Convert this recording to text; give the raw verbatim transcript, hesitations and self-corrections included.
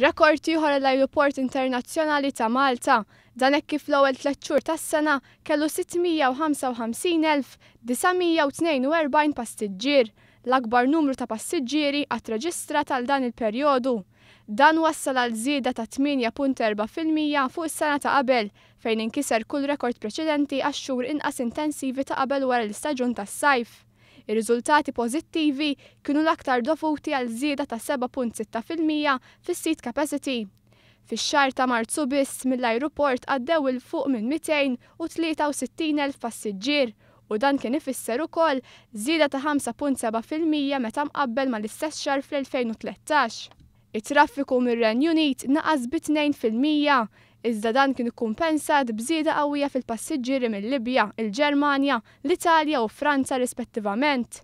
Rekord ieħor l-Ajruport Internazzjonali ta' Malta, dan hekk kif l-ewwel tliet xhur tas-sena kellu sitt mija u ħamsa u ħamsin elf disa' mija u tnejn u erbgħin passiġġier, l-akbar numru ta' passiġġieri qatt reġistrat għal dan il-perjodu. Dan wassal għal żieda ta' tmienja punt erba' fil-mija fuq is-sena ta' qabel, fejn inkiser kull rekord preċedenti għax-xhur inqas intensivi ta' qabel wara l-istaġun tas-sajf. Ir-riżultati pożittivi kienu l-aktar dovuti għal żieda ta' seba' punt sitta fil-mija fis-seat capacity. Fix-xahar ta' Marzu biss mill-ajruport għaddew 'il fuq minn mitejn u tlieta u sittin elf passiġġier u dan kien ifisser ukoll żieda ta' ħamsa punt seba' fil-mija meta mqabbel mal-istess xahar fl-elfejn u tlettax. It-traffiku mir-Renju Unit naqas bi tnejn fil-mija, iżda dan kien ikkumpensat b'żieda qawwija fil-passiġġieri mill-Libja, il-Ġermanja, l-Italja u Franza rispettivament.